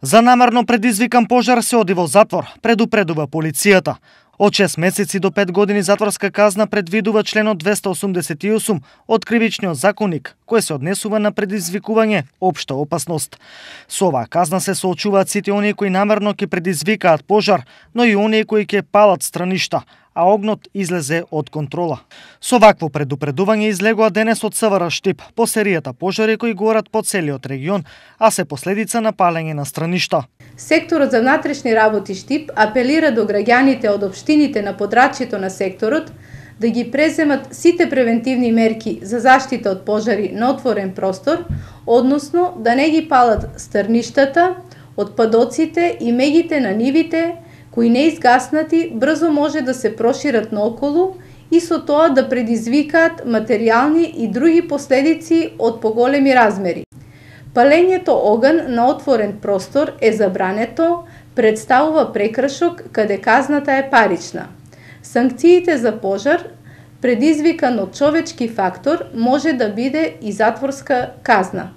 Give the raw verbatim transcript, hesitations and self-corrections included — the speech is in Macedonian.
За намерно предизвикан пожар се оди во затвор, предупредува полицијата. Од шест месеци до пет години затворска казна предвидува членот двеста осумдесет и осум од Кривичниот законник, кој се однесува на предизвикување општа опасност. Со оваа казна се соочуваат сите оние кои намерно ќе предизвикаат пожар, но и оние кои ќе палат страништа, а огнот излезе од контрола. Со вакво предупредување излегува денес од СВР Штип по серијата пожари кои горат по целиот регион, а се последица на палење на страништа. Секторот за внатрешни работи Штип апелира до граѓаните од општините на подрачјето на секторот да ги преземат сите превентивни мерки за заштита од пожари на отворен простор, односно да не ги палат стрништата, отпадоците и мегите на нивите кои неизгаснати брзо може да се прошират наоколу и со тоа да предизвикаат материјални и други последици од поголеми размери. Палењето оган на отворен простор е забрането, представува прекршок каде казната е парична. Санкциите за пожар, предизвикан од човечки фактор, може да биде и затворска казна.